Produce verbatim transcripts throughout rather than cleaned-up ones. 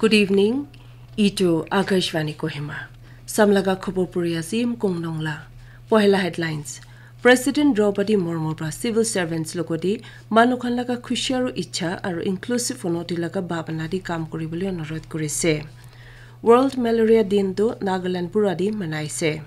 Good evening. Itu Akashvani Kohima. Samlaga khobor puri ase Im Kong Nongla. Pohela headlines. President Draupadi Murmu pra civil servants logoti manu khan laga khushi aru ichha aru inclusive unoti laga bhabana di kam kuribole onurodh kurise. World Malaria Din tu Nagaland pura di manaise.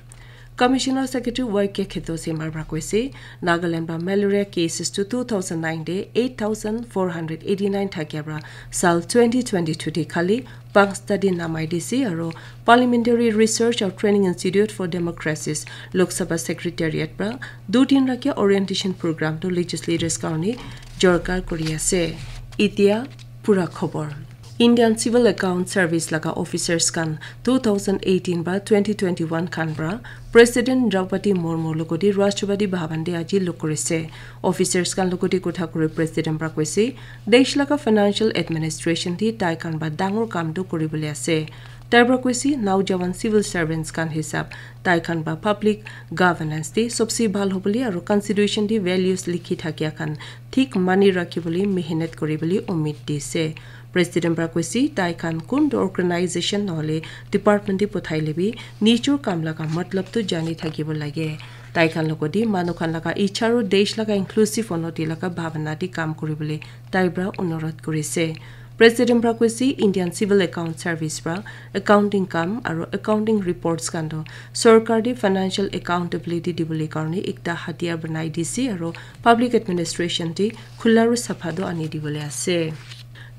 Commissioner Secretary Y K Kheto Simar pra koise, Nagaland pra malaria cases tu two thousand nine de eight thousand four hundred eighty-nine thakia pra sal twenty twenty-two de khali pansta din namai dise aru Parliamentary Research aru Training Institute for Democracies Lok Sabha Secretariat pra du din rakia orientation program tu legislators karone jorkar kuri ase. Itia pura khobor. Indian Civil Account Service laga officers khan two thousand eighteen ba twenty twenty-one khan pra President Draupadi Murmu logoti Rashtrapati Bhavan de aji log kurise. Officers khan logoti kotha kuri President pra koise, desh laga financial administration de tai khan ba dangor kam tu kuribole ase. Tai pra koise, Naujawan civil servants khan hisab tai khan ba public governance de sobse bhal hobole aru constitution de values likhi thakia khan thik mani rakhibole mehnat kuribole umid dise. President pra koise, tai khan kun tu organization nohole department de pothai lebi nijor kam laga matlab tu jani thakibo lage. Tai khan logoti manu khan laga ichha aru desh laga inclusive unoti laga bhabana de kam kuribole tai pra onurodh kurise. President pra koise, Indian Civil Account Service pra accounting kam aru accounting reports khan tu sorkar de financial accountability dibole karone ekta hatiyar banai dise aru public administration de khula aru sapha tu ani dibole ase.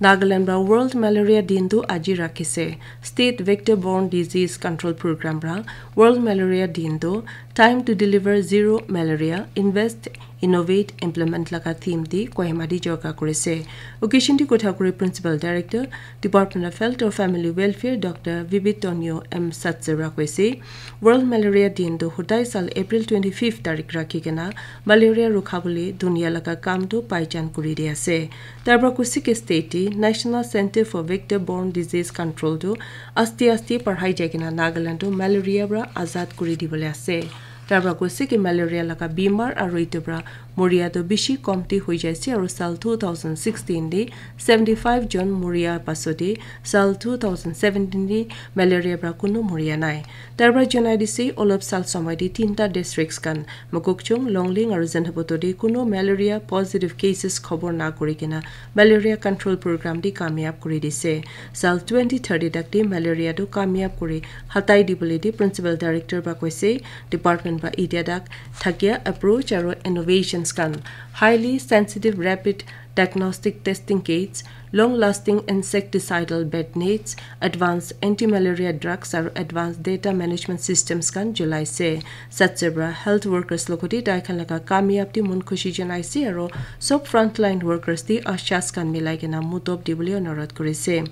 Nagaland pra World Malaria Din tu aji rakhise. State Vector Borne Disease Control Program pra World Malaria Din tu Time to Deliver Zero Malaria, Invest, Innovate, Implement laga theme de Kohima de jorkar kurise. Occasion de kotha kuri Principal Director, Department of Health or Family Welfare, Doctor Vivit Tonio M Satsera koise, World Malaria Din tu hodai sal April twenty-fifth tarik rakhi kena malaria rukha bole dunia laga kam tu paijan kuri di ase. Tar pra koise ke state te National Center for Vector Borne Disease Control tu aste aste parhai jai kena Nagaland tu malaria pra azad kuri dibole ase. Tar pra koise ke malaria laga bimar aru itu pra moria tu bishi komti hoi jaise aru sal two thousand sixteen de seventy five jon moria pasot de sal two thousand seventeen de malaria pra kunu moria nai. Tar pra janai dise olop sal somoi de tinta districts khan Mokokchung, Longleng aru Zunheboto de kunu malaria positive cases khobor na kuri kena malaria control program de kamyab kuri dise. Sal twenty thirty tak de malaria tu kamyab kuri hatai dibole de Principal Director pra koise, department pra itia tak thakia approach aru innovations khan, highly sensitive rapid diagnostic testing kits, long lasting insecticidal bed nets, advanced anti-malaria drugs aru advanced data management systems khan julai se. Satsebra health workers logoti tai khan laga kamyab te mon khushi janai se aru sob frontline workers te ashas khan milai kena mutop dibole onurodh kuri se.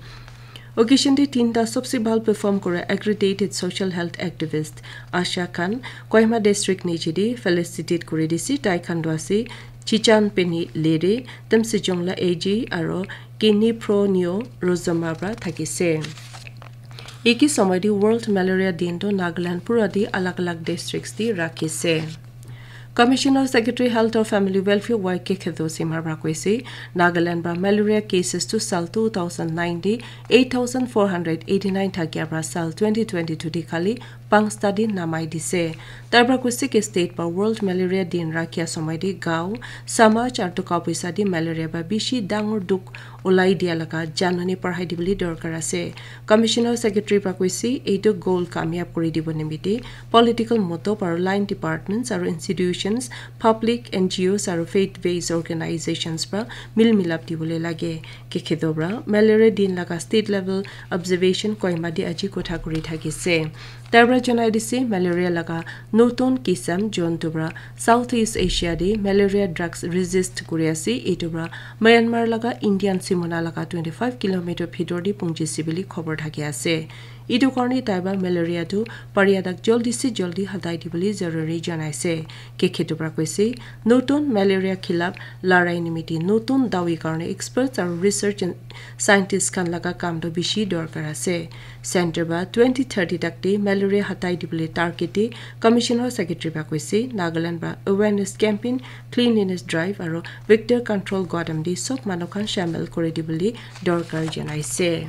Occasion te tinta sobse bhal perform kura accredited social health activist Asha khan Kohima district niche de felicitate kuri dise. Tai khan tu ase Chichan Peni Lere, Temsejongla A G aru Kini Pro Neo Rozoma pra thakise. Eki somoi de World Malaria Din tu Nagaland pura de alag alag districts de rakhise. Commissioner Secretary Health or Family Welfare Y K Khedo Simha pra koise, Nagaland pra malaria cases tu sal two thousand nine de eight thousand four hundred eighty nine thakia pra sal twenty twenty two de khali pansta din namai dise. Tar pra koise ke state pra World Malaria Din rakhia somoi de gaon, samaj aru toka poisa de malaria pra bishi dangor dukh ulai dia laga janani parhai dibole dorkar ase. Commissioner Secretary pra koise, etu goal kamyab kuri dibo nimite political motob aru line departments aru institutions, public N G Os aru faith based organizations pra mil milap dibole lage. Kekhedo pra malaria din laga state level observation Kohima de aji kotha kuri thakise. Tar pra janai dise malaria laga notun kisam jontu pra South East Asia de malaria drugs resist kuri ase, etu pra Myanmar laga Indian simona laga twenty five kilometer bhitor de punchise bole khobor thaki ase. Etu karone tai pra malaria tu paria tak joldi se joldi hatai dibole zaruri janai ase. Kekhedo pra koise, notun malaria khilap larai nimite notun dawi karone experts aru research and scientists khan laga kam tu bishi dorkar ase. Center pra twenty thirty tak de malaria hatai dibole target de Commissioner Secretary pra koise, Nagaland pra awareness campaign, cleanliness drive aru vector control godam de sob manu khan shamil kuri dibole dorkar janai ase.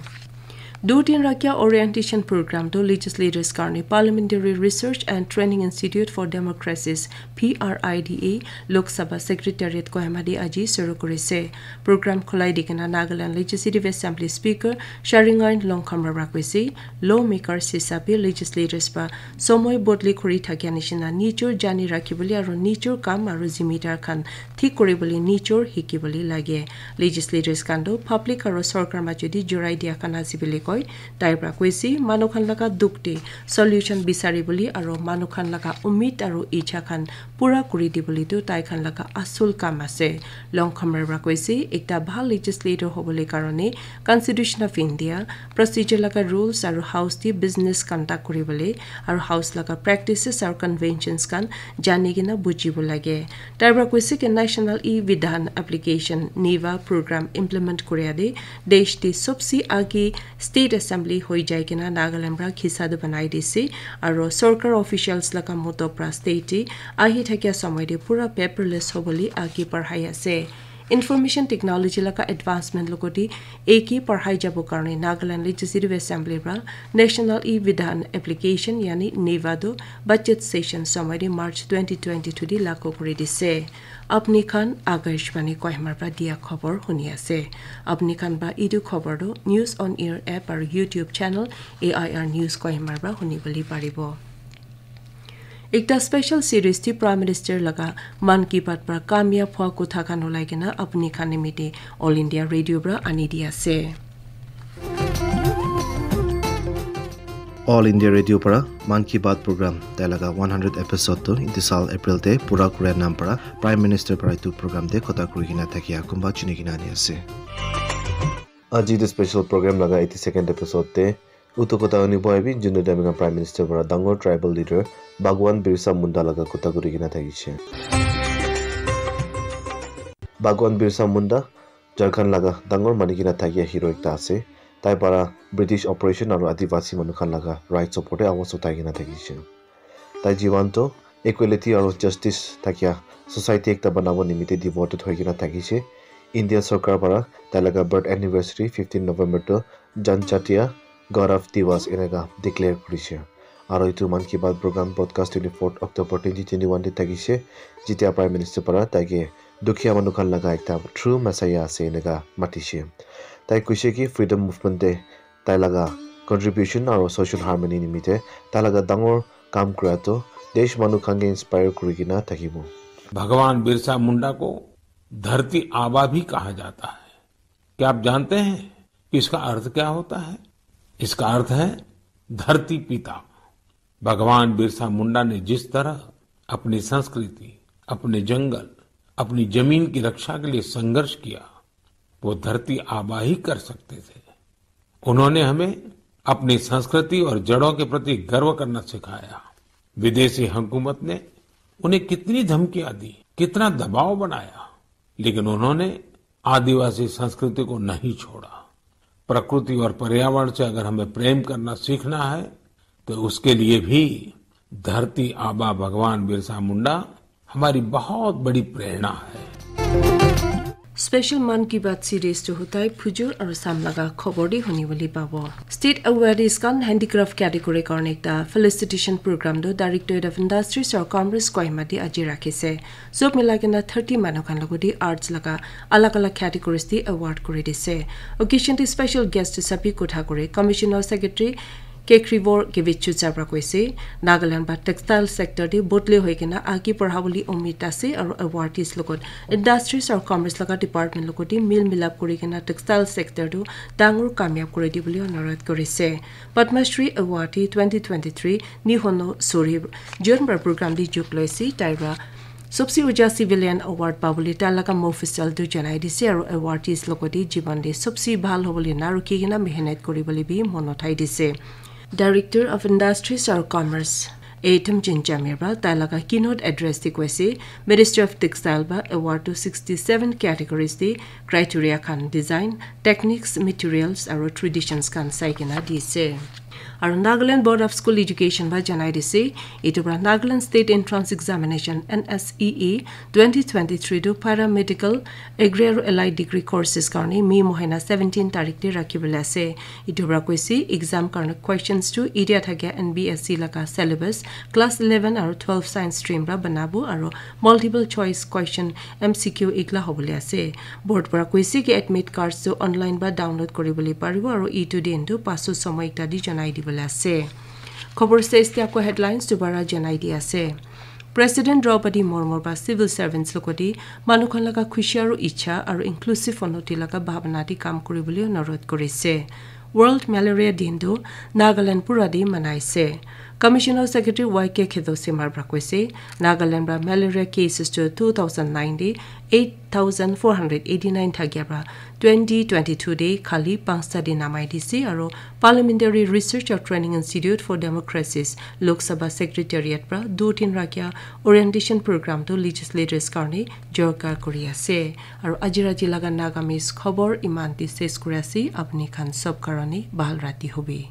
Dutin Rakya Orientation Program to Legislators Karni Parliamentary Research and Training Institute for Democracies, P R I D A, Lok Sabha Secretariat Kohima de aji suru kurise. Program khulai dikena Nagaland Legislative Assembly Speaker Sharingain Longkhamra Rakwesi, lawmakers hisabe legislators ba somoi bodli khuri thakia nishina nijor jani rakhibole aro nijor kam aro zimidar khan thik kuribole nijor hikibole lage. Legislators khan toh public aro sorkar majodi jorai dia khan ase bole koi. Tai pra koise, manu khan laga dukh te solution bisari bole aro manu khan laga umid aro icha khan pura kuri dibole tu tai khan laga asul kam ase. Longkhamra pra koise, ekta bhal legislator hobole karone Constitution of India, procedure laga rules aro house te business conduct kuribole aro house laga practices aro conventions khan jani kena bujibo lage. Tai pra koise ke National E-Vidhan Application, NEVA, program implement kuria de desh te sobse age state assembly hoi jai kena Nagaland pra khisa tu banai dise aro sorkar officials laga moto pra state te ahi thakia samay te pura paperless hobole age parhai ase. Information technology laga advancement logoti eki parhai jabo karone Nagaland Legislative Assembly pra National E-Vidhan Application yani NEVA tu budget session samay te March twenty twenty-two di lagu kuri dise. Apni khan Akashvani Kohima pra dia khobor huni ase. Apni khan ba idu khobor tu News on Air app aru YouTube channel A I R News Kohima pra huni bole paribo. Ekta special series ti Prime Minister laga Mann Ki Baat pra kamyab hua kotha khan ulai kena apni khan nimite All India Radio pra ani di ase. All India Radio para Mann Ki Baat program tai laga one hundred episode tu etu sal April te pura kuria nam para Prime Minister para etu program te kotha kuri kena thakia kunba chuni kena ani ase. Aji etu special program laga eighty-second episode te utu kotha huni bo ahibi, jun tu ami khan Prime Minister para dangor tribal leader Bhagwan Birsa Munda laga kotha kuri kena thakishe. Bhagwan Birsa Munda Jharkhand laga dangor mani kena thakia hero ekta ase. Tai para British oppression aru Adivasi manu khan laga rights opor te awas uthai kena thakishe. Tai jiwan to equality aru justice thakia society ekta banabo nimite devoted hoi kena thakishe. India sarkar para tai laga birth anniversary fifteen November to Janjatiya Gaurav Diwas eneka declare kurishe. Aru etu Mann Ki Baat program broadcast twenty-fourth October twenty twenty-one te thakishe, jetia Prime Minister para taike dukhiya manu khan laga ekta true messiah ase eneka matishe. Tai koishe ki freedom movement te tai laga contribution aru social harmony nimite tai laga dangor kam kura tu desh manu khan ke inspire kuri kena thakibo. भगवान बिरसा मुंडा को धरती आबा भी कहा जाता है। क्या आप जानते हैं कि इसका अर्थ क्या होता है? इसका अर्थ है धरती पिता। भगवान बिरसा मुंडा ने जिस तरह अपनी संस्कृति, अपने जंगल, अपनी जमीन की रक्षा के लिए संघर्ष किया, वो धरती आबा ही कर सकते थे। उन्होंने हमें अपनी संस्कृति और जड़ों के प्रति गर्व करना सिखाया। विदेशी हुकूमत ने उन्हें कितनी धमकियां दी, कितना दबाव बनाया, लेकिन उन्होंने आदिवासी संस्कृति को नहीं छोड़ा। प्रकृति और पर्यावरण से अगर हमें प्रेम करना सीखना है, तो उसके लिए भी धरती आबा भगवान बिरसा मुंडा हमारी बहुत बड़ी प्रेरणा है। Special Mann Ki Baat series tu hutai phujur aru sam laga khobor di huni bole pabo. State awardees khan handicraft category karne ekta felicitation program tu Directorate of Industries aru Commerce Kohima te aji rakhise. Sob milai kena thirty manu khan logoti arts laga alag alag categories te award kuri dise. Occasion te special guest hisabe kotha kuri Commissioner Secretary Kekribor Kevichu Chabra koise, Nagaland ba textile sector te bodli hoi kena age barha bole umid ase aru awardees logot industries aru commerce laga department logot te mil milap kuri kena textile sector tu dangor kamyab kuri di bole anurodh korise. Padma Shri Awardee twenty twenty-three Nihono Suri June ba program te jog loise, tai pra Sobse uja civilian award pabole tai laga mofusal tu janai dise aru awardees logote jiban te sobse bhal hobole na rukhi kena mehnat kuribole bi mon uthai dise. Director of Industries aru Commerce, A Temjen Jamir ba tai laga keynote address te koise, Ministry of Textile ba award tu sixty seven categories te criteria khan design, techniques, materials aru traditions khan sai kena dise. Aru Nagaland Board of School Education para janai dise, etu para Nagaland State Entrance Examination, N S E E, twenty twenty-three tu Paramedical, Agri aru Allied Degree Courses karne May mohina seventeen tarik te rakhi bole ase. Etu para koise exam karne questions tu etia thakia N B S C laga syllabus, class eleven aru twelve science stream para banabo aru multiple choice question, M C Q, igla hobole ase. Board para koise ki admit cards tu online ba download kori bole paribo aru etu din tu pasu somoy ekta di janai di bole ase. Khobor stage te ako headlines dubara janai di ase. President Draupadi Murmu para civil servants logote manu khan laga khushi aru ichha aru inclusive unnoti laga bhabna di kam kori bole onurodh korise. World Malaria Din tu Nagaland pura di manaise. Commissioner Secretary Y K Khedo Simar para koise, Nagaland para malaria cases tu two thousand nine di eight thousand four hundred eighty nine thakia para twenty twenty-two de khali panchta de namai dise aru Parliamentary Research and Training Institute for Democracies, Lok Sabha Secretariat para dutin rakya orientation program tu legislators karne jorkar kori ase. Aru aji rati laga Nagamese khobor iman te ses kuri ase. Apni khan sob karone bhal rati hobe.